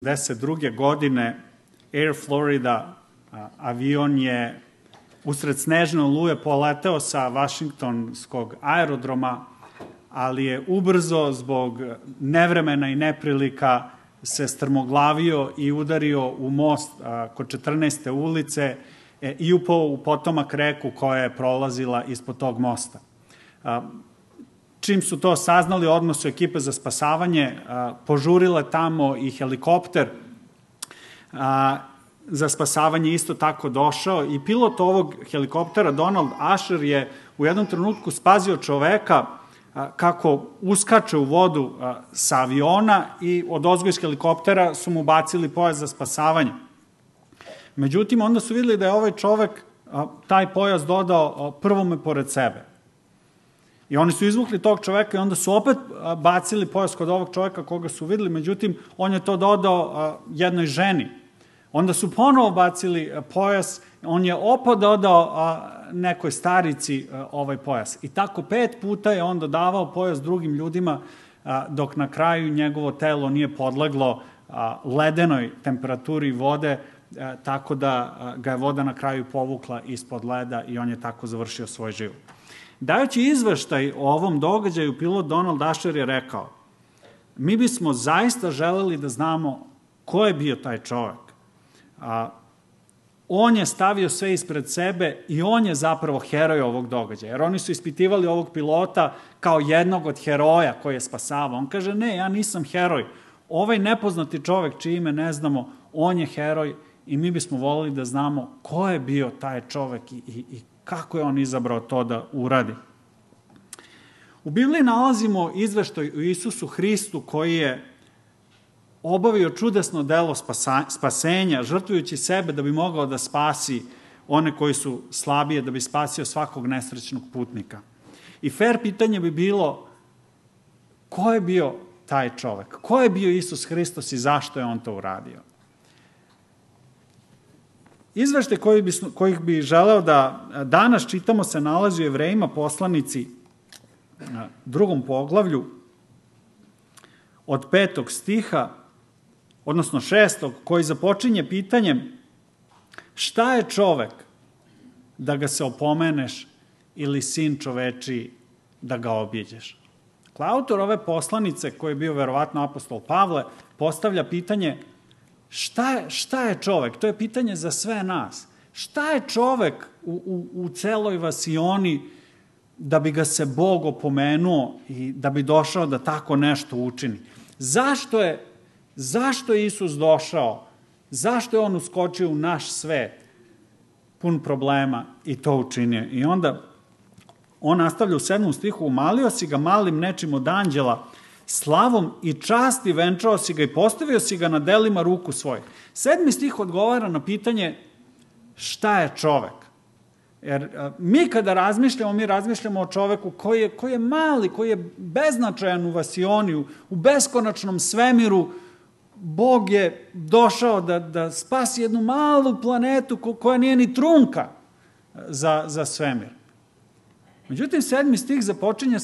1992. godine Air Florida avion je usred snežne oluje poleteo sa Vašingtonskog aerodroma, ali je ubrzo zbog nevremena i neprilika se strmoglavio i udario u most kod 14. ulice i upao u potomak reku koja je prolazila ispod tog mosta. Čim su to saznali, odmah su ekipe za spasavanje požurile tamo i helikopter za spasavanje isto tako došao i pilot ovog helikoptera, Donald Asher, je u jednom trenutku spasio čoveka kako uskače u vodu sa aviona i odozgo iz helikoptera su mu bacili pojas za spasavanje. Međutim, onda su videli da je ovaj čovek taj pojas dodao prvome pored sebe. I oni su izvukli tog čoveka i onda su opet bacili pojas kod ovog čoveka koga su videli, međutim, on je to dodao jednoj ženi. Onda su ponovo bacili pojas, on je opet dodao nekoj starici ovaj pojas. I tako 5 puta je on dodavao pojas drugim ljudima, dok na kraju njegovo telo nije podleglo ledenoj temperaturi vode, tako da ga je voda na kraju povukla ispod leda i on je tako završio svoj život. Dajući izveštaj o ovom događaju, pilot Donald Asher je rekao: mi bismo zaista želeli da znamo ko je bio taj čovek. On je stavio sve ispred sebe i on je zapravo heroj ovog događaja. Jer oni su ispitivali ovog pilota kao jednog od heroja koji je spasavao. On kaže: ne, ja nisam heroj. Ovaj nepoznati čovek čije ime ne znamo, on je heroj i mi bismo volili da znamo ko je bio taj čovek i kako je on izabrao to da uradi. U Bibliji nalazimo izveštaj o Isusu Hristu koji je obavio čudesno delo spasenja, žrtvujući sebe da bi mogao da spasi one koji su slabije, da bi spasio svakog nesrećnog putnika. I fair pitanje bi bilo: ko je bio taj čovek? Ko je bio Isus Hristos i zašto je on to uradio? Izveštaj kojih bi želeo da danas čitamo se nalazi u Jevrejima poslanici 2. poglavlju od 5. stiha, odnosno 6. koji započinje pitanjem: šta je čovek da ga se opomeneš ili sin čoveči da ga objeđeš? Autor ove poslanice, koji je bio verovatno apostol Pavle, postavlja pitanje: šta je čovek? To je pitanje za sve nas. Šta je čovek u celoj vasioni da bi ga se Bog opomenuo i da bi došao da tako nešto učini? Zašto je Isus došao? Zašto je on uskočio u naš svet pun problema i to učinio? I onda on nastavlja u 7. stihu: umalio si ga malim nečim od anđela, slavom i časti venčao si ga i postavio si ga na delima ruku svojih. 7. stih odgovara na pitanje šta je čovek. Jer mi kada razmišljamo, mi razmišljamo o čoveku koji je mali, koji je beznačajan u vasioni, u beskonačnom svemiru. Bog je došao da spasi jednu malu planetu koja nije ni trunka za svemir. Međutim, 7. stih započinje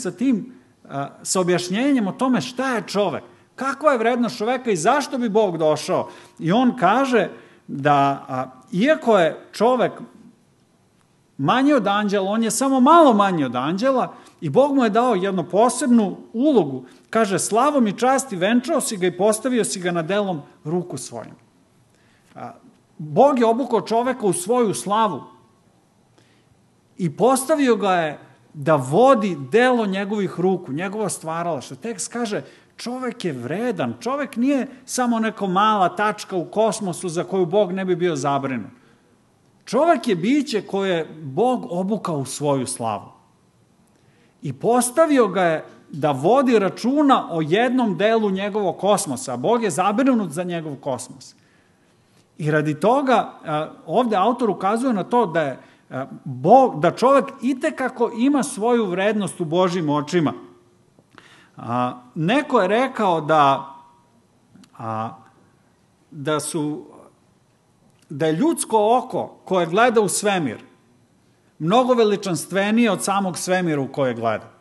sa objašnjenjem o tome šta je čovek, kakva je vrednost čoveka i zašto bi Bog došao. I on kaže da iako je čovek manji od anđela, on je samo malo manji od anđela i Bog mu je dao jednu posebnu ulogu. Kaže: slavom i časti venčao si ga i postavio si ga na delom ruku svojim. Bog je obukao čoveka u svoju slavu i postavio ga je da vodi delo njegovih ruku, njegova stvaralaštva. Tekst kaže: čovek je vredan, čovek nije samo neka mala tačka u kosmosu za koju Bog ne bi bio zabrinut. Čovek je biće koje je Bog obukao u svoju slavu. I postavio ga je da vodi računa o jednom delu njegovog kosmosa. Bog je zabrinut za njegov kosmos. I radi toga ovde autor ukazuje na to da čovek itekako ima svoju vrednost u Božjim očima. Neko je rekao da je ljudsko oko koje gleda u svemir mnogo veličanstvenije od samog svemira u koje gleda.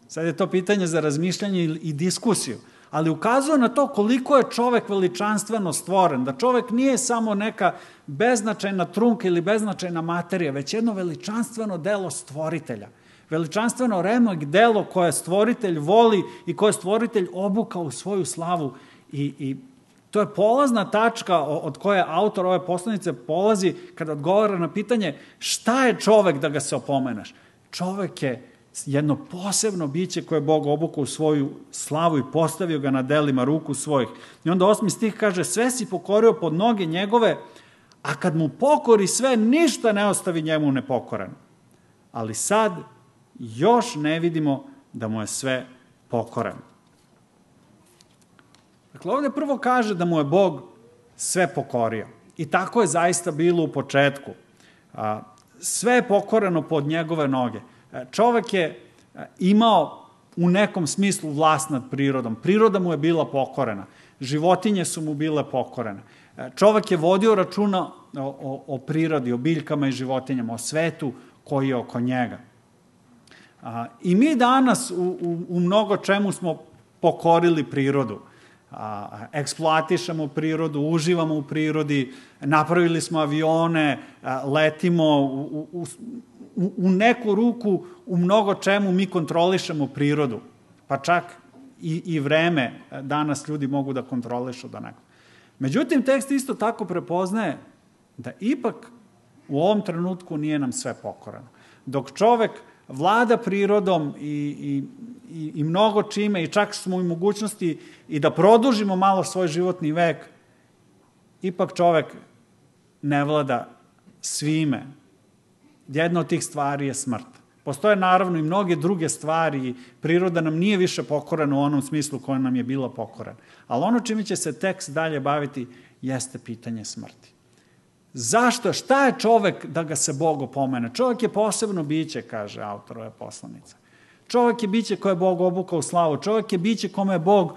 Sad je to pitanje za razmišljanje i diskusiju, ali ukazuje na to koliko je čovek veličanstveno stvoren, da čovek nije samo neka beznačajna trunka ili beznačajna materija, već jedno veličanstveno delo stvoritelja. Veličanstveno remek delo koje stvoritelj voli i koje stvoritelj obuka u svoju slavu. I to je polazna tačka od koje autor ove poslanice polazi kada odgovara na pitanje šta je čovek da ga se opomeneš. Čovek je jedno posebno biće koje je Bog obukao u svoju slavu i postavio ga na delima ruku svojih. I onda 8. stih kaže, sve si pokorio pod noge njegove, a kad mu pokori sve, ništa ne ostavi njemu nepokoreno. Ali sad još ne vidimo da mu je sve pokoreno. Dakle, ovdje prvo kaže da mu je Bog sve pokorio. I tako je zaista bilo u početku. Sve je pokoreno pod njegove noge. Čovek je imao u nekom smislu vlast nad prirodom. Priroda mu je bila pokorena. Životinje su mu bile pokorene. Čovek je vodio računa o prirodi, o biljkama i životinjama, o svetu koji je oko njega. I mi danas u mnogo čemu smo pokorili prirodu. Eksploatišemo prirodu, uživamo u prirodi, napravili smo avione, letimo u neku ruku, u mnogo čemu mi kontrolišemo prirodu. Pa čak i vreme danas ljudi mogu da kontrolišu da neko. Međutim, tekst isto tako prepoznaje da ipak u ovom trenutku nije nam sve pokoreno. Dok čovek vlada prirodom i mnogo čime i čak smo u mogućnosti i da produžimo malo svoj životni vek, ipak čovek ne vlada svime. Jedna od tih stvari je smrt. Postoje naravno i mnoge druge stvari, priroda nam nije više pokorena u onom smislu koja nam je bila pokorena. Ali ono čime će se tekst dalje baviti jeste pitanje smrti. Zašto? Šta je čovek da ga se Bog opomene? Čovek je posebno biće, kaže autor ove poslanice. Čovek je biće koje je Bog obukao u slavu. Čovek je biće kome je Bog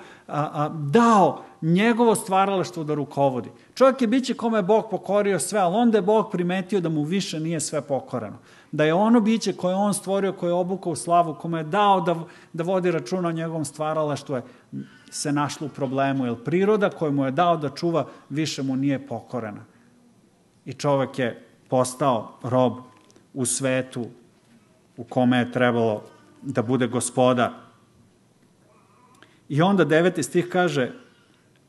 dao njegovo stvaralaštvo da rukovodi. Čovek je biće kome je Bog pokorio sve, ali onda je Bog primetio da mu više nije sve pokoreno. Da je ono biće koje je on stvorio, koje je obukao u slavu, kome je dao da vodi računa o njegovom stvaralaštvu, se našlo u problemu. Jer priroda koju mu je dao da čuva više mu nije pokorena. I čovek je postao rob u svetu u kome je trebalo da bude gospodar. I onda 9. stih kaže,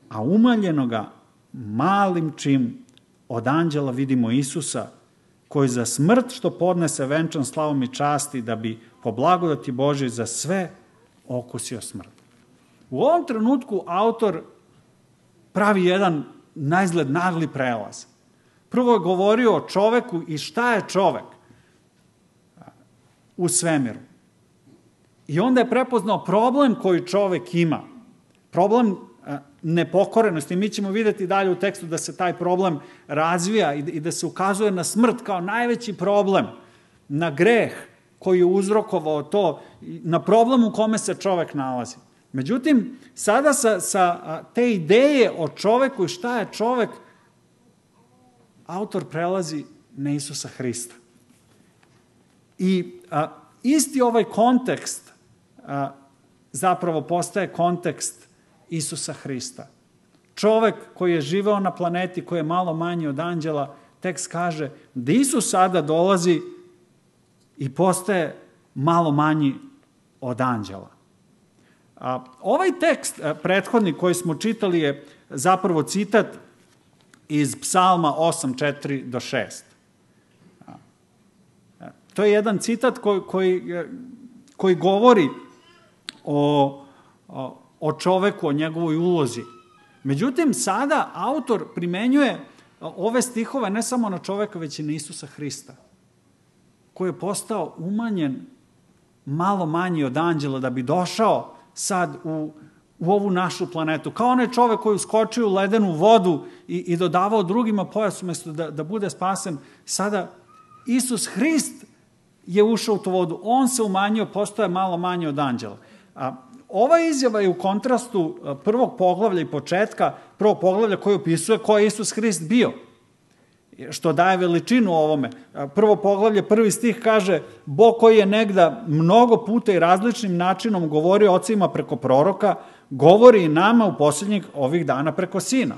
a umaljenoga malim čim od anđela vidimo Isusa, koji za smrt što podnese venčan slavom i časti, da bi po blagodati Božoj za sve okusio smrt. U ovom trenutku autor pravi jedan naizgled nagli prelaz. Prvo je govorio o čoveku i šta je čovek u svemiru. I onda je prepoznao problem koji čovek ima. Problem nepokorenosti. Mi ćemo vidjeti dalje u tekstu da se taj problem razvija i da se ukazuje na smrt kao najveći problem, na greh koji je uzrokovao to, na problem u kome se čovek nalazi. Međutim, sada sa te ideje o čoveku i šta je čovek, autor prelazi na Isusa Hrista. I isti ovaj kontekst zapravo postaje kontekst Isusa Hrista. Čovek koji je živeo na planeti, koji je malo manji od anđela, tekst kaže da Isus sada dolazi i postaje malo manji od anđela. Ovaj tekst, prethodni koji smo čitali, je zapravo citat iz Psalma 8:4-6. To je jedan citat koji govori o čoveku, o njegovoj ulozi. Međutim, sada autor primenjuje ove stihove ne samo na čoveka, već i na Isusa Hrista, koji je postao umanjen malo manji od anđela da bi došao sad u ovu našu planetu. Kao onaj čovek koji uskočio u ledenu vodu i dodavao drugima pojas umjesto da bude spasen. Sada Isus Hrist je ušao u tu vodu. On se umanjio, postoje malo manje od anđela. Ova izjava je u kontrastu prvog poglavlja i početka, prvog poglavlja koji opisuje ko je Isus Hrist bio, što daje veličinu ovome. Prvo poglavlje, 1. stih kaže, Bog koji je negda mnogo puta i različnim načinom govorio ocima preko proroka, govori i nama u posljednjih ovih dana preko Sina.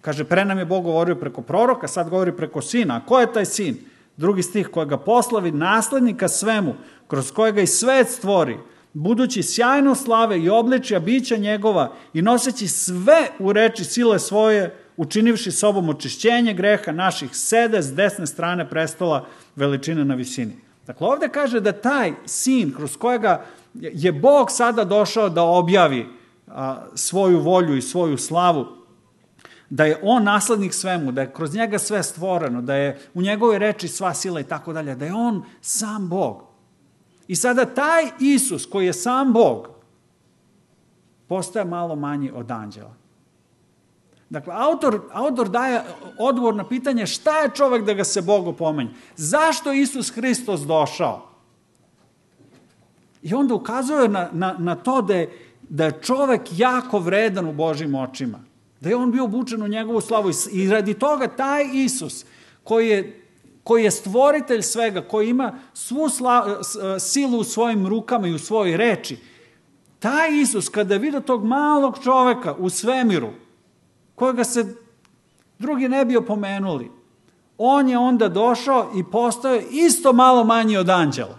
Kaže, pre nam je Bog govorio preko proroka, sad govori preko Sina. A ko je taj Sin? 2. stih, kojega poslavi naslednika svemu, kroz kojega i svet stvori, budući sjajno slave i obličja bića njegova i noseći sve u reči sile svoje, učinivši sobom očišćenje greha naših, sede s desne strane prestola veličine na visini. Dakle, ovde kaže da taj Sin, kroz kojega je Bog sada došao da objavi svoju volju i svoju slavu, da je on naslednik svemu, da je kroz njega sve stvoreno, da je u njegovoj reči sva sila i tako dalje, da je on sam Bog. I sada taj Isus koji je sam Bog postaje malo manji od anđela. Dakle, autor daje odgovor na pitanje šta je čovek da ga se Bog opomenje. Zašto Isus Hristos došao? I onda ukazuje na to da je čovek jako vredan u Božjim očima. Da je on bio obučen u njegovu slavu i radi toga taj Isus koji je stvoritelj svega, koji ima svu silu u svojim rukama i u svojoj reči, taj Isus kada je vidio tog malog čoveka u svemiru, kojega se drugi ne bi opomenuli, on je onda došao i postao isto malo manji od anđela,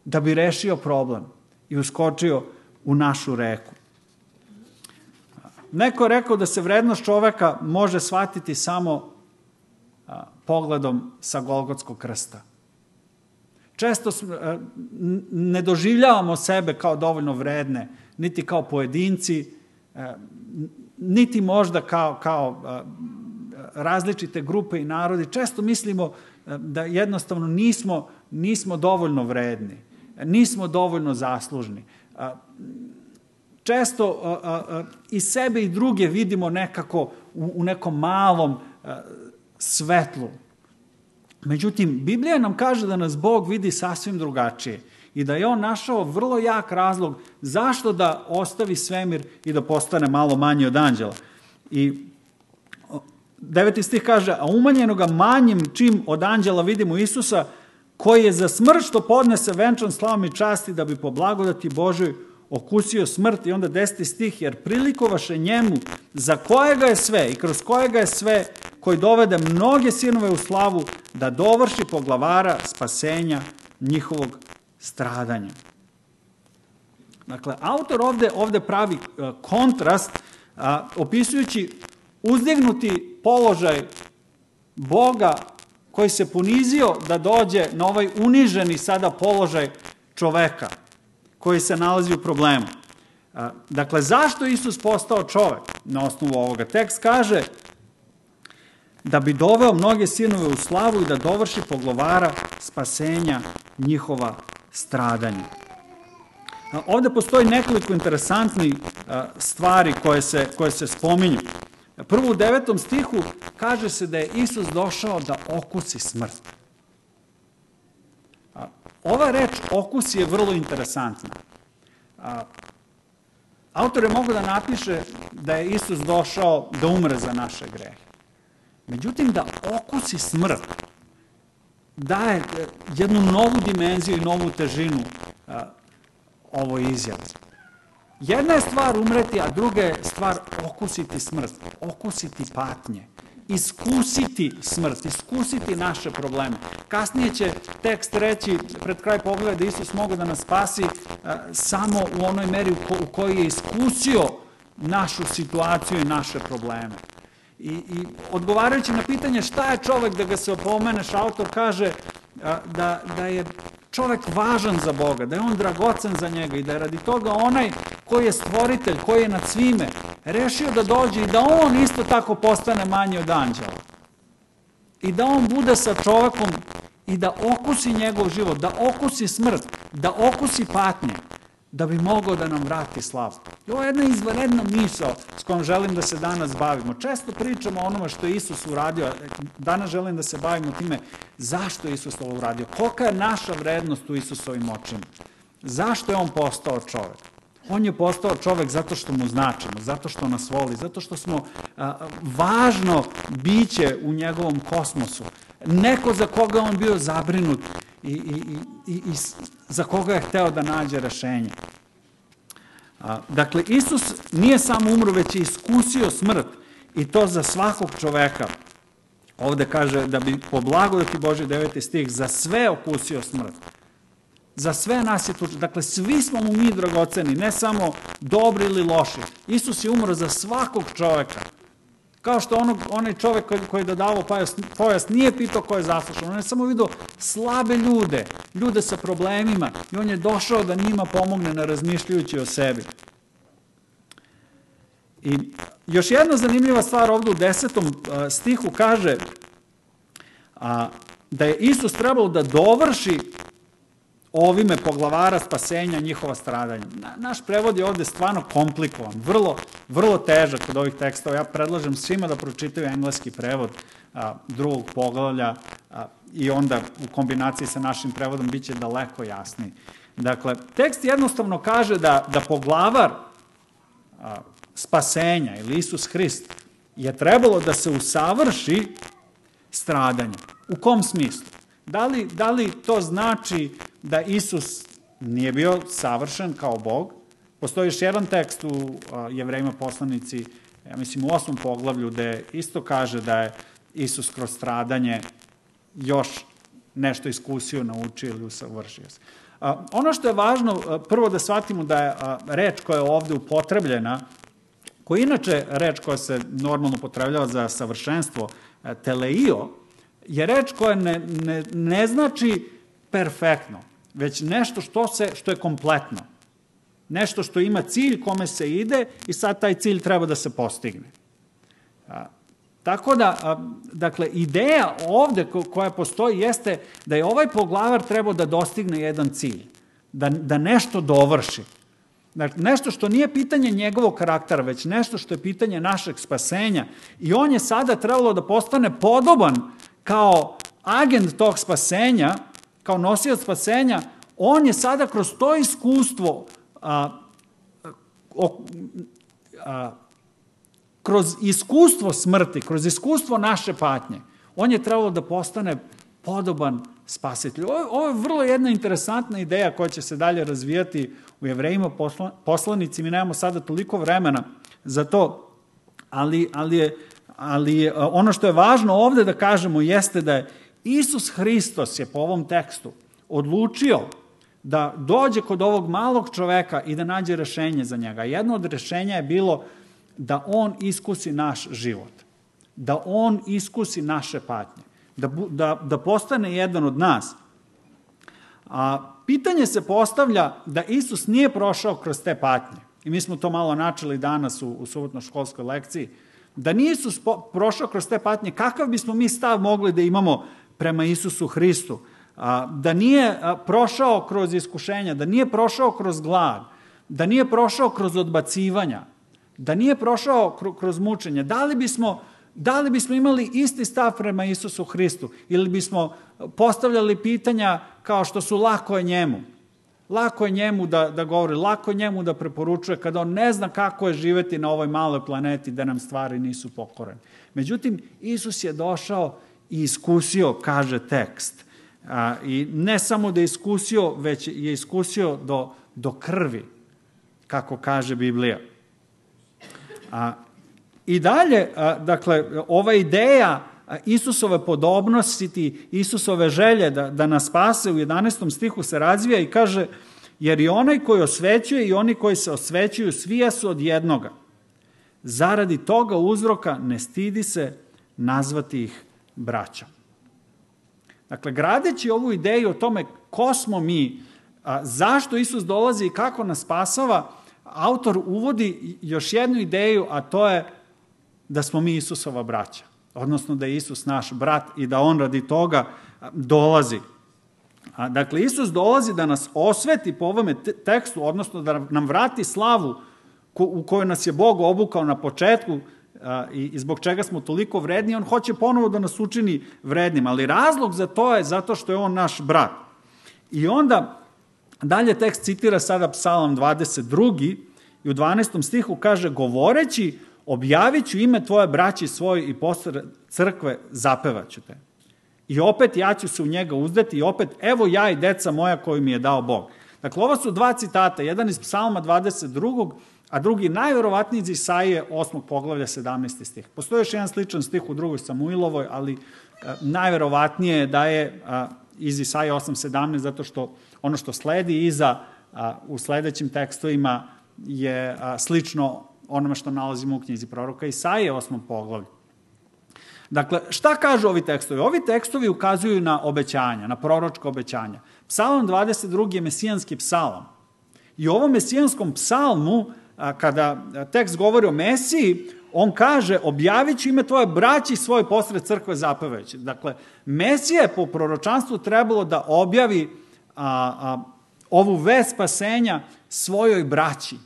da bi rešio problem i uskočio u našu reku. Neko je rekao da se vrednost čoveka može shvatiti samo pogledom sa Golgotskog krsta. Često ne doživljavamo sebe kao dovoljno vredne, niti kao pojedinci, niti možda kao različite grupe i narodi. Često mislimo da jednostavno nismo dovoljno vredni, nismo dovoljno zaslužni. Često i sebe i druge vidimo nekako u nekom malom svetlu. Međutim, Biblija nam kaže da nas Bog vidi sasvim drugačije i da je on našao vrlo jak razlog zašto da ostavi svemir i da postane malo manji od anđela. I 9. stih kaže, a umanjenoga manjim čim od anđela vidimo Isusa, koji je za smrt što podnese venčan slavom i časti da bi po blagodati Božoj okusio smrt. I onda 10. stih, jer prilikovaše njemu za kojega je sve i kroz kojega je sve, koji dovede mnoge sinove u slavu, da dovrši poglavara spasenja njihovog stradanja. Dakle, autor ovde pravi kontrast, opisujući uzdignuti položaj Boga koji se ponizio da dođe na ovaj uniženi sada položaj čoveka koji se nalazi u problemu. Dakle, zašto Isus postao čovek? Na osnovu ovoga tekst kaže da bi doveo mnoge sinove u slavu i da dovrši poglavara spasenja njihova stradanja. Ovde postoji nekoliko interesantnih stvari koje se spominju. Prvo u 9. stihu kaže se da je Isus došao da okusi smrt. Ova reč okusi je vrlo interesantna. Autor je mogao da napiše da je Isus došao da umre za naše grehe. Međutim, da okusi smrt daje jednu novu dimenziju i novu težinu ovoj izjavi. Jedna je stvar umreti, a druga je stvar okusiti smrt, okusiti patnje, iskusiti smrt, iskusiti naše probleme. Kasnije će tekst reći, pred kraj pogleda, da Isus mogao da nas spasi samo u onoj meri u kojoj je iskusio našu situaciju i naše probleme. I odgovarajući na pitanje šta je čovek da ga se opomeneš, autor kaže da je čovek važan za Boga, da je on dragocen za njega i da je radi toga onaj koji je stvoritelj, koji je nad svime, rešio da dođe i da on isto tako postane manji od anđela. I da on bude sa čovekom i da okusi njegov život, da okusi smrt, da okusi patnje, da bi mogao da nam vrati slavu. I ovo je jedna izvanredna misao s kojom želim da se danas bavimo. Često pričamo o onome što je Isus uradio, danas želim da se bavimo time zašto je Isus ovo uradio, kolika je naša vrednost u Isusovim očima, zašto je on postao čovek. On je postao čovek zato što mu značimo, zato što nas voli, zato što smo važno biće u njegovom kosmosu, neko za koga on bio zabrinut i za koga je hteo da nađe rešenje. Dakle, Isus nije samo umro, već je iskusio smrt i to za svakog čoveka. Ovde kaže da bi po blagodati Božje 9. stih za sve okusio smrt. Za sve nas je tu. Dakle, svi smo mu mi dragoceni, ne samo dobri ili loši. Isus je umro za svakog čoveka. Kao što onaj čovek koji je dodavao pojas nije pitao ko je zaslušan. On je samo vidio slabe ljude, ljude sa problemima i on je došao da njima pomogne ne razmišljajući o sebi. I još jedna zanimljiva stvar ovde u 10. stihu kaže da je Isus trebalo da dovrši ovime poglavara spasenja njihova stradanja. Naš prevod je ovde stvarno komplikovan, vrlo težak od ovih tekstova. Ja predlažem svima da pročitaju engleski prevod drugog poglavlja i onda u kombinaciji sa našim prevodom biće daleko jasniji. Dakle, tekst jednostavno kaže da poglavar spasenja ili Isus Hrist je trebalo da se usavrši stradanje. U kom smislu? Da li to znači da Isus nije bio savršen kao Bog? Postoji još jedan tekst u Jevrejima poslanici, ja mislim u 8. poglavlju, gde isto kaže da je Isus kroz stradanje još nešto iskusio, naučio ili usavršio se. Ono što je važno, prvo da shvatimo da je reč koja je ovde upotrebljena, koja je inače reč koja se normalno upotrebljava za savršenstvo, teleio, je reč koja ne znači perfektno, već nešto što je kompletno. Nešto što ima cilj kome se ide i sad taj cilj treba da se postigne. Tako da, dakle, ideja ovde koja postoji jeste da je ovaj poglavar trebao da dostigne jedan cilj, da nešto dovrši. Dakle, nešto što nije pitanje njegovog karaktera, već nešto što je pitanje našeg spasenja. I on je sada trebalo da postane podoban kao agent tog spasenja, kao nosioc spasenja. On je sada kroz to iskustvo, kroz iskustvo smrti, kroz iskustvo naše patnje, on je trebalo da postane podoban spasitelj. Ovo je vrlo jedna interesantna ideja koja će se dalje razvijati u Jevrejima poslanici. Mi nemamo sada toliko vremena za to, ali ono što je važno ovde da kažemo jeste da je Isus Hristos je po ovom tekstu odlučio da dođe kod ovog malog čoveka i da nađe rešenje za njega. Jedno od rešenja je bilo da on iskusi naš život, da on iskusi naše patnje, da postane jedan od nas. Pitanje se postavlja da Isus nije prošao kroz te patnje. I mi smo to malo načeli danas u subotno-školskoj lekciji. Da nije Isus prošao kroz te patnje, kakav bismo mi stav mogli da imamo prema Isusu Hristu? Da nije prošao kroz iskušenja, da nije prošao kroz glad, da nije prošao kroz odbacivanja, da nije prošao kroz mučenje. Da li bismo imali isti stav prema Isusu Hristu ili bismo postavljali pitanja kao što su lako je njemu? Lako je njemu da govori, lako je njemu da preporučuje kada on ne zna kako je živeti na ovoj maloj planeti da nam stvari nisu pokorene. Međutim, Isus je došao i iskusio, kaže tekst. I ne samo da je iskusio, već je iskusio do krvi, kako kaže Biblija. I dalje, dakle, ova ideja Isusove podobnosti, Isusove želje da nas spase u 11. stihu se razvija i kaže, jer i onaj koji osvećuje i oni koji se osvećuju, svi su od jednoga. Zaradi toga uzroka ne stidi se nazvati ih braćom. Dakle, gradeći ovu ideju o tome ko smo mi, zašto Isus dolazi i kako nas spasava, autor uvodi još jednu ideju, a to je da smo mi Isusova braća. Odnosno da je Isus naš brat i da on radi toga dolazi. Dakle, Isus dolazi da nas osveti po ovome tekstu, odnosno da nam vrati slavu u kojoj nas je Bog obukao na početku i zbog čega smo toliko vredni. On hoće ponovo da nas učini vrednim, ali razlog za to je zato što je on naš brat. I onda dalje tekst citira sada Psalam 22. i u 12. stihu kaže, govoreći, objavit ću ime tvoje braći svoje i posle crkve zapevaću te. I opet ja ću se u njega uzdati i opet evo ja i deca moja koju mi je dao Bog. Dakle, ovo su dva citata, jedan iz Psalma 22. a drugi najverovatniji iz Isaije 8. poglavlja 17. stih. Postoji još jedan sličan stih u 2. Samuilovoj, ali najverovatnije je da je iz Isaije 8.17, zato što ono što sledi iza u sledećim tekstovima je slično onome što nalazimo u knjizi proroka Isaije 8. poglavlju. Dakle, šta kažu ovi tekstovi? Ovi tekstovi ukazuju na obećanja, na proročka obećanja. Psalm 22. je mesijanski psalam. I u ovom mesijanskom psalmu, kada tekst govori o Mesiji, on kaže, objavit ću ime tvoje braći i svoj posred crkve zapevajući. Dakle, Mesija je po proročanstvu trebalo da objavi ovu vest spasenja svojoj braći.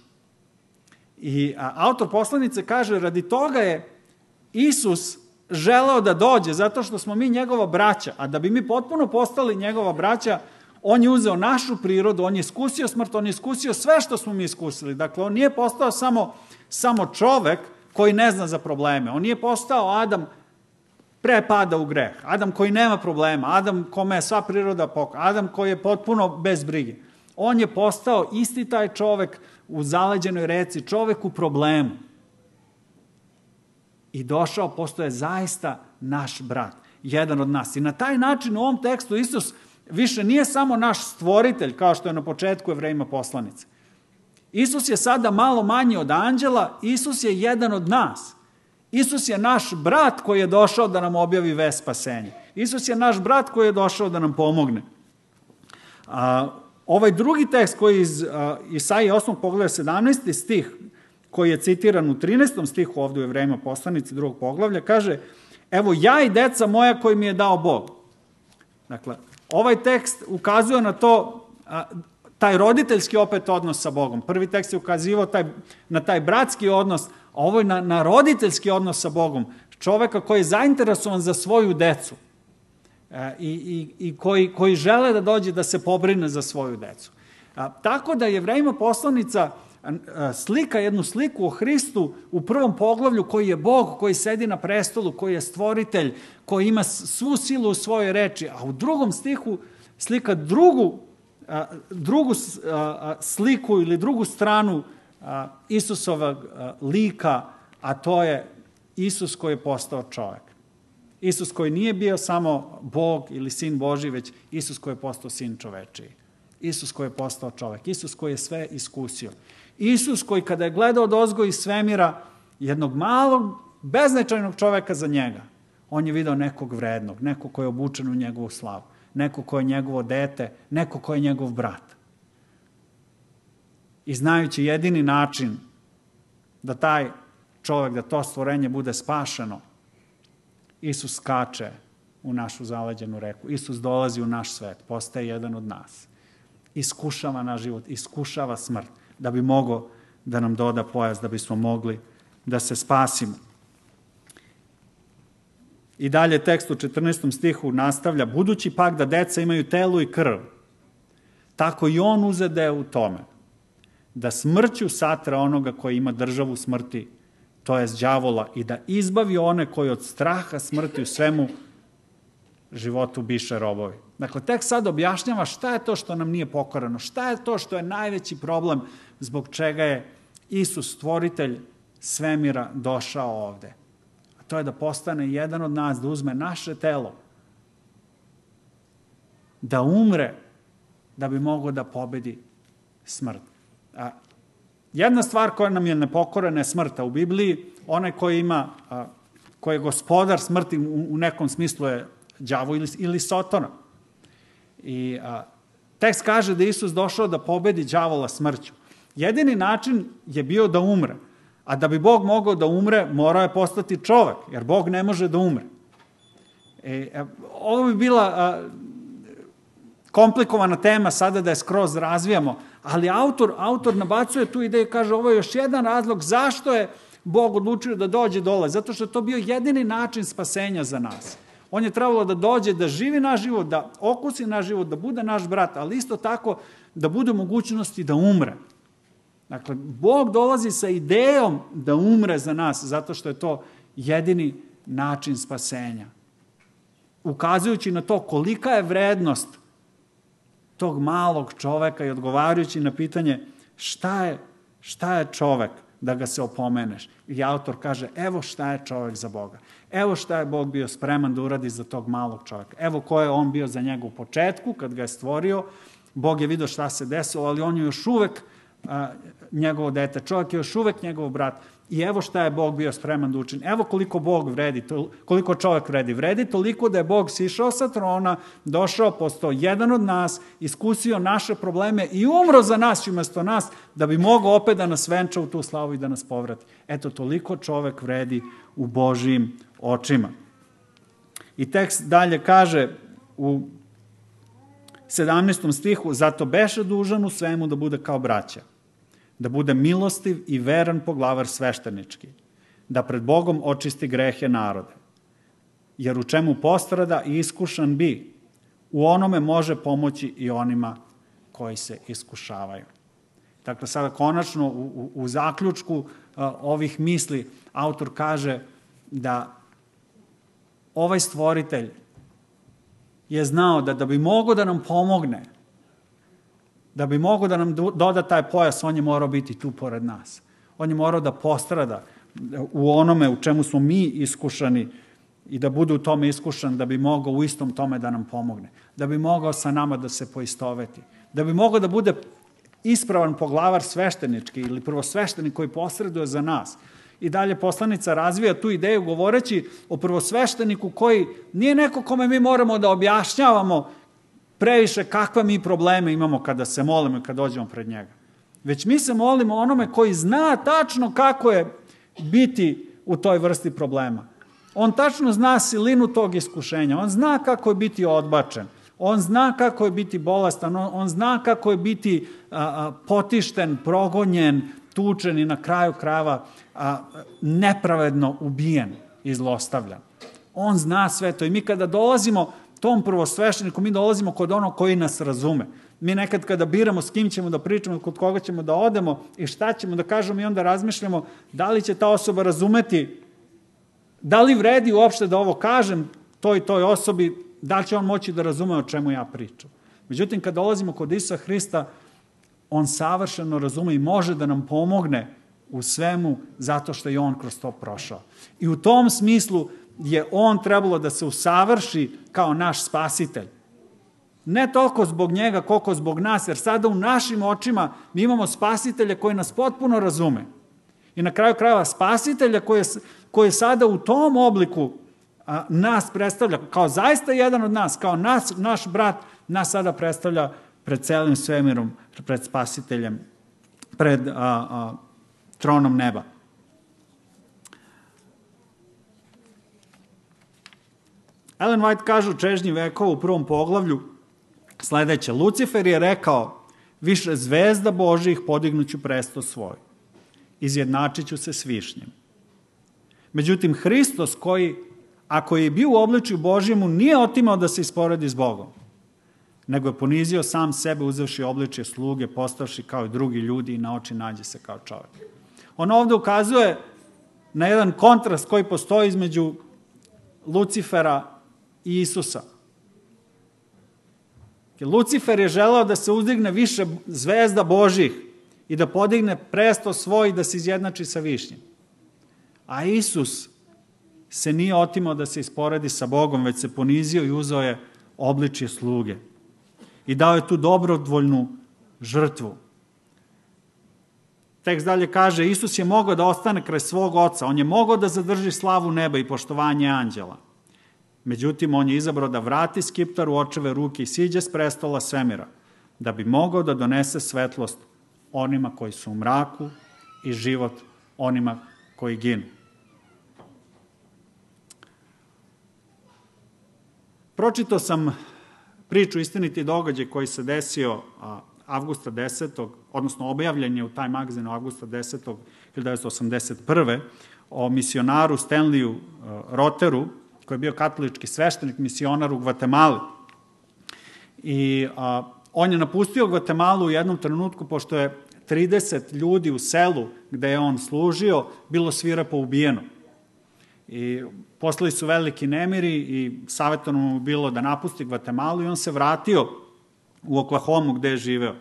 I autor poslanice kaže, radi toga je Isus želeo da dođe, zato što smo mi njegova braća, a da bi mi potpuno postali njegova braća, on je uzeo našu prirodu, on je iskusio smrt, on je iskusio sve što smo mi iskusili. Dakle, on nije postao samo čovek koji ne zna za probleme. On nije postao Adam pre pada u greh. Adam koji nema problema, Adam kome je sva priroda pokoj, Adam koji je potpuno bez brige. On je postao isti taj čovek u zaleđenoj reci, čovek u problemu. I došao, postoje zaista naš brat, jedan od nas. I na taj način u ovom tekstu Isus više nije samo naš stvoritelj, kao što je na početku Jevrejima poslanice. Isus je sada malo manji od anđela, Isus je jedan od nas. Isus je naš brat koji je došao da nam objavi vest spasenja. Isus je naš brat koji je došao da nam pomogne. Ovaj drugi tekst koji je iz Isaije 8. poglavlja 17. stih, koji je citiran u 13. stihu ovdje u Jevrejima poslanici 2. poglavlja, kaže, evo ja i deca moja koji mi je dao Bog. Dakle, ovaj tekst ukazuje na to, taj roditeljski opet odnos sa Bogom. Prvi tekst je ukazivao na taj bratski odnos, a ovo je na roditeljski odnos sa Bogom. Čoveka koji je zainteresovan za svoju decu i koji žele da dođe da se pobrine za svoju decu. Tako da Jevrejima poslanica slika jednu sliku o Hristu u prvom poglavlju koji je Bog, koji sedi na prestolu, koji je stvoritelj, koji ima svu silu u svojoj reči, a u drugom stihu slika drugu sliku ili drugu stranu Isusovog lika, a to je Isus koji je postao čovjek. Isus koji nije bio samo Bog ili Sin Božji, već Isus koji je postao Sin čovečiji. Isus koji je postao čovjek. Isus koji je sve iskusio. Isus koji kada je gledao odozgo iz svemira jednog malog, beznačajnog čoveka za njega, on je video nekog vrednog, nekog koji je obučen u njegovu slavu, nekog koji je njegovo dete, nekog koji je njegov brat. I znajući jedini način da taj čovjek, da to stvorenje bude spašeno, Isus skače u našu zaleđenu reku. Isus dolazi u naš svet, postaje jedan od nas. Iskušava naš život, iskušava smrt, da bi mogao da nam doda pojas, da bismo mogli da se spasimo. I dalje tekst u 14. stihu nastavlja, budući pak da deca imaju telo i krv, tako i on uzede u tome, da smrću satra onoga koji ima državu smrti, to jest đavola, i da izbavi one koji od straha smrti u svemu životu biše robovi. Dakle, tekst sad objašnjava šta je to što nam nije pokorano, šta je to što je najveći problem zbog čega je Isus, stvoritelj svemira, došao ovde. A to je da postane jedan od nas, da uzme naše telo, da umre, da bi mogao da pobedi smrt. Jedna stvar koja nam je nepokorena je smrt. U Bibliji onaj koji je gospodar smrti u nekom smislu je đavo ili Sotona. I tekst kaže da Isus došao da pobedi đavola smrću. Jedini način je bio da umre. A da bi Bog mogao da umre, morao je postati čovek, jer Bog ne može da umre. Ovo bi bila komplikovana tema sada da je skroz razvijamo, ali autor nabacuje tu ideju i kaže ovo je još jedan razlog zašto je Bog odlučio da dođe dole, zato što je to bio jedini način spasenja za nas. On je trebalo da dođe, da živi naš život, da okusi naš život, da bude naš brat, ali isto tako da bude u mogućnosti da umre. Dakle, Bog dolazi sa idejom da umre za nas, zato što je to jedini način spasenja. Ukazujući na to kolika je vrednost tog malog čoveka i odgovarajući na pitanje šta je čovek da ga se opomeneš. I autor kaže, evo šta je čovek za Boga. Evo šta je Bog bio spreman da uradi za tog malog čoveka. Evo ko je on bio za njega u početku, kad ga je stvorio. Bog je vidio šta se desilo, ali on je još uvek njegovo dete. Čovek je još uvek njegov brat. I evo šta je Bog bio spreman da učini. Evo koliko Bog vredi, koliko čovek vredi. Vredi toliko da je Bog sišao sa trona, došao, postao jedan od nas, iskusio naše probleme i umro za nas i umesto nas, da bi mogao opet da nas venča u tu slavu i da nas povrati. Eto, toliko čovek vredi u Božijim očima. I tekst dalje kaže u 17. stihu, zato beše dužan u svemu da bude kao braća, da bude milostiv i veran poglavar sveštenički, da pred Bogom očisti grehe narode. Jer u čemu postrada i iskušan bi, u onome može pomoći i onima koji se iskušavaju. Dakle, sada konačno u zaključku ovih misli autor kaže da ovaj stvoritelj je znao da bi mogao da nam pomogne, da bi mogao da nam doda taj pojas, on je morao biti tu pored nas. On je morao da postrada u onome u čemu smo mi iskušani i da bude u tome iskušan, da bi mogao u istom tome da nam pomogne. Da bi mogao sa nama da se poistoveti. Da bi mogao da bude ispravan poglavar sveštenički ili prvosveštenik koji posreduje za nas. I dalje poslanica razvija tu ideju govoreći o prvosvešteniku koji nije neko kome mi moramo da objašnjavamo previše kakve mi probleme imamo kada se molimo i kada dođemo pred njega. Već mi se molimo onome koji zna tačno kako je biti u toj vrsti problema. On tačno zna silinu tog iskušenja, on zna kako je biti odbačen, on zna kako je biti bolestan, on zna kako je biti potišten, progonjen, tučen i na kraju krajeva nepravedno ubijen i zlostavljan. On zna sve to i mi kada dolazimo tom prvosvešteniku, mi dolazimo kod onog koji nas razume. Mi nekad kada biramo s kim ćemo da pričamo, kod koga ćemo da odemo i šta ćemo da kažemo i onda razmišljamo da li će ta osoba razumeti, da li vredi uopšte da ovo kažem toj osobi, da li će on moći da razume o čemu ja pričam. Međutim, kada dolazimo kod Isusa Hrista, on savršeno razume i može da nam pomogne u svemu zato što je on kroz to prošao. I u tom smislu je on trebalo da se usavrši kao naš spasitelj. Ne toliko zbog njega, koliko zbog nas, jer sada u našim očima mi imamo spasitelja koji nas potpuno razume. I na kraju krajeva spasitelja koji sada u tom obliku nas predstavlja, kao zaista jedan od nas, kao naš brat, nas sada predstavlja pred celim svemirom, pred spasiteljem, pred tronom neba. Ellen White kaže u Čežnji vekova u 1. poglavlju sledeće. Lucifer je rekao, više zvezda Božijih podignuću presto svoj. Izjednačit ću se s višnjim. Međutim, Hristos koji, ako je bio u obličju Božjemu, nije otimao da se isporedi s Bogom, nego je ponizio sam sebe uzevši obličje sluge, postavši kao i drugi ljudi i na oči nađe se kao čovjek. On ovde ukazuje na jedan kontrast koji postoji između Lucifera i Isusa. Lucifer je želeo da se uzdigne više zvezda Božjih i da podigne presto svoj i da se izjednači sa višnjim. A Isus se nije otimao da se isporedi sa Bogom, već se ponizio i uzeo je obličje sluge. I dao je tu dobrovoljnu žrtvu. Tekst dalje kaže, Isus je mogao da ostane kraj svog oca, on je mogao da zadrži slavu neba i poštovanje anđela. Međutim, on je izabrao da vrati skiptar u očeve ruke i siđe s prestola svemira, da bi mogao da donese svetlost onima koji su u mraku i život onima koji ginu. Pročitao sam priču Istiniti događaj koji se desio avgusta 10. odnosno objavljen je u taj magazinu avgusta 10. 1981. o misionaru Stanleyu Roteru, koji je bio katolički sveštenik, misionar u Gvatemali. I on je napustio Gvatemalu u jednom trenutku, pošto je 30 ljudi u selu gde je on služio bilo svirepo ubijeno. I poslali su veliki nemiri i savjetovano mu bilo da napusti Gvatemalu i on se vratio u Oklahomu gde je živeo.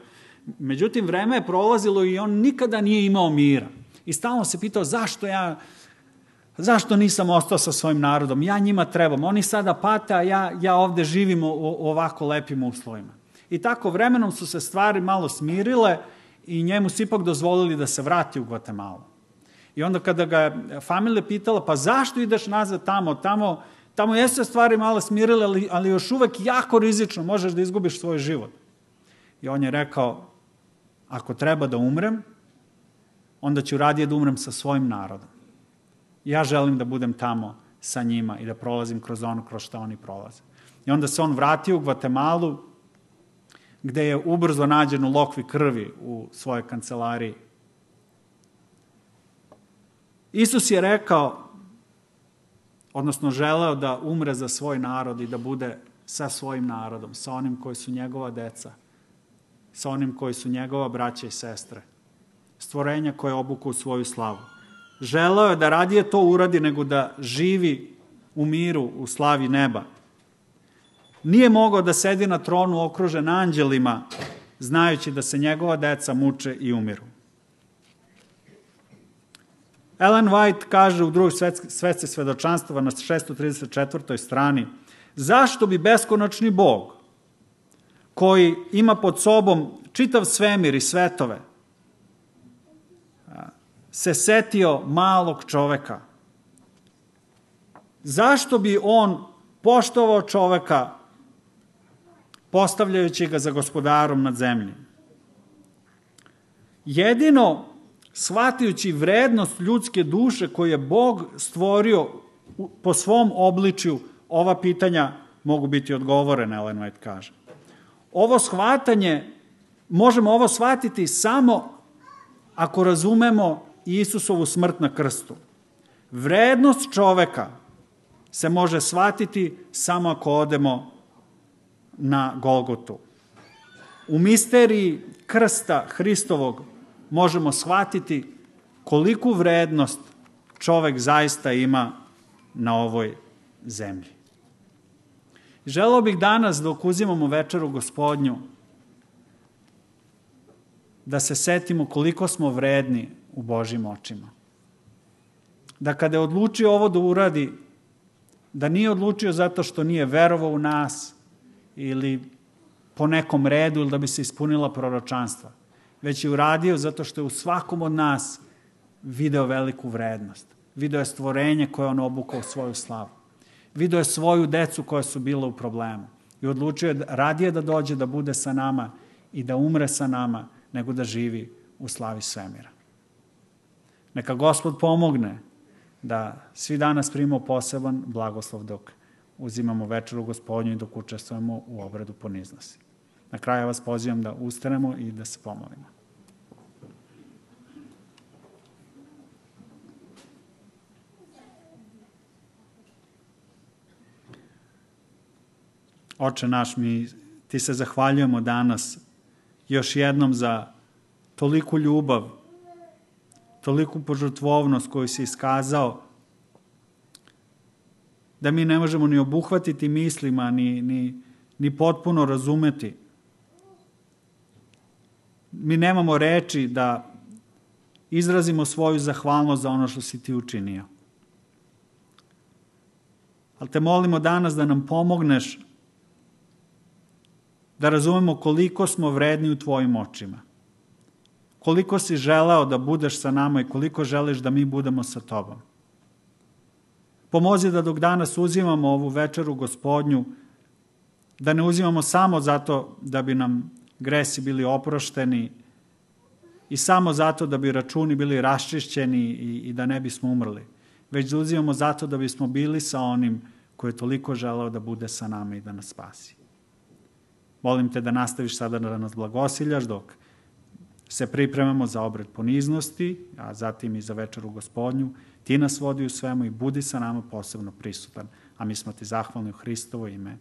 Međutim, vreme je prolazilo i on nikada nije imao mira. I stalno se pitao zašto nisam ostao sa svojim narodom? Ja njima trebam. Oni sada pate, a ja ovde živim u ovako lepim uslovima. I tako vremenom su se stvari malo smirile i njemu su ipak dozvolili da se vrati u Gvatemalu. I onda kada ga je familija pitala, pa zašto ideš nazad tamo jesu se stvari malo smirile, ali još uvek jako rizično, možeš da izgubiš svoj život. I on je rekao, ako treba da umrem, onda ću radije da umrem sa svojim narodom. Ja želim da budem tamo sa njima i da prolazim kroz ono kroz što oni prolaze. I onda se on vratio u Gvatemalu, gde je ubrzo nađen u lokvi krvi u svojoj kancelariji. Isus je rekao, odnosno želeo da umre za svoj narod i da bude sa svojim narodom, sa onim koji su njegova deca, sa onim koji su njegova braća i sestre, stvorenja koje obuku u svoju slavu. Želeo je da radije to uradi nego da živi u miru, u slavi neba. Nije mogao da sedi na tronu okružen anđelima, znajući da se njegova deca muče i umiru. Ellen White kaže u drugoj svetci svedočanstava na 634. strani, zašto bi beskonačni Bog, koji ima pod sobom čitav svemir i svetove, se setio malog čoveka? Zašto bi on poštovao čoveka postavljajući ga za gospodarom nad zemljom? Jedino shvatajući vrednost ljudske duše koju je Bog stvorio po svom obličju, ova pitanja mogu biti odgovorene, Ellen White kaže. Možemo ovo shvatiti samo ako razumemo Isusovu smrt na krstu. Vrednost čoveka se može shvatiti samo ako odemo na Golgotu. U misteriji krsta Hristovog možemo shvatiti koliku vrednost čovek zaista ima na ovoj zemlji. Želeo bih danas, dok uzimamo večeru Gospodnju, da se setimo koliko smo vredni u Božjim očima. Da kada je odlučio ovo da uradi, da nije odlučio zato što nije verovao u nas ili po nekom redu ili da bi se ispunila proročanstva, već je uradio zato što je u svakom od nas video veliku vrednost. Video je stvorenje koje on obukao u svoju slavu. Video je svoju decu koja su bila u problemu. I odlučio je radije da dođe da bude sa nama i da umre sa nama, nego da živi u slavi svemira. Neka Gospod pomogne da svi danas primimo poseban blagoslov dok uzimamo večeru Gospodnju i dok učestvujemo u obredu poniznosti. Na kraju vas pozivam da ustanemo i da se pomolimo. Oče naš, ti se zahvaljujemo danas još jednom za toliku ljubav, toliku požrtvovnost koju si iskazao, da mi ne možemo ni obuhvatiti mislima, ni potpuno razumeti. Mi nemamo reči da izrazimo svoju zahvalnost za ono što si ti učinio. Ali te molimo danas da nam pomogneš da razumemo koliko smo vredni u tvojim očima. Koliko si želeo da budeš sa nama i koliko želiš da mi budemo sa tobom. Pomozi da dok danas uzimamo ovu večeru Gospodnju, da ne uzimamo samo zato da bi nam gresi bili oprošteni i samo zato da bi računi bili raščišćeni i da ne bismo umrli, već da uzimamo zato da bismo bili sa onim koji je toliko želeo da bude sa nama i da nas spasi. Molim te da nastaviš sada da nas blagosiljaš dok se pripremamo za obred poniznosti, a zatim i za večeru Gospodnju. Ti nas vodi u svemu i budi sa nama posebno prisutan, a mi smo ti zahvalni u Hristovo ime.